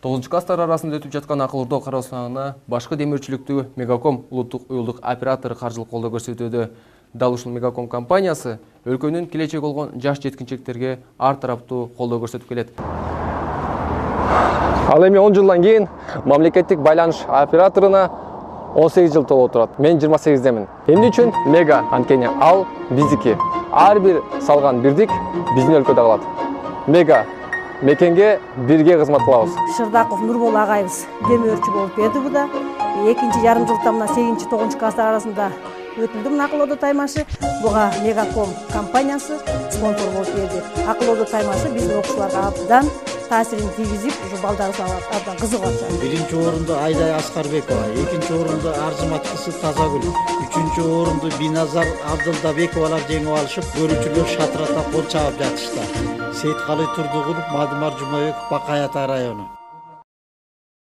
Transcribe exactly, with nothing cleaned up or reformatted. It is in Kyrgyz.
тогузунчу класстар арасында өтүп жаткан акыл ордо кароо сынагына башкы демирчиликтүү Мегаком улуттук уюлдук оператору каржылык колдоо көрсөтүүдө. Дал ушул Мегаком компаниясы өлкөнүн келечеги болгон жаш жеткинчектерге ар тараптуу колдоо көрсөтүп келет. Ал эми он жылдан кийин мамлекеттик байланыш операторуна он сегиз жыл толуп турат. Мен жыйырма сегиздемин. Эмне үчүн Мега? Анткени ал биздики. Ар бир салган бирдик биздин өлкөдө калат. Мега мекенге бирге кызмат кылабыз. Шырдаков Нурбол агайыбыз демөөрчү болуп берди буда. Экинчи жарым жылда мына сегизинчи тогузунчу класстар арасында өтүлдү мына акыл ордо таймашы. Буга Мегаком компаниясы спонсор болуп берди. Акыл ордо таймашы биздин окуучуларга абдан таасирин тийгизип, ушу балдарыбызга абдан кызыгып атышат. Биринчи орунду Айдай Аскарбекова, экинчи орунду Арзымат кызы Тазагүл, үчүнчү орунду Биназар Абдылдабековалар жеңип алышып, көрүүчүлөр шатырата кол чаап жатышты. Сейиткалый Турдугулов, Мадымар Жумабеков, Бакай Ата району.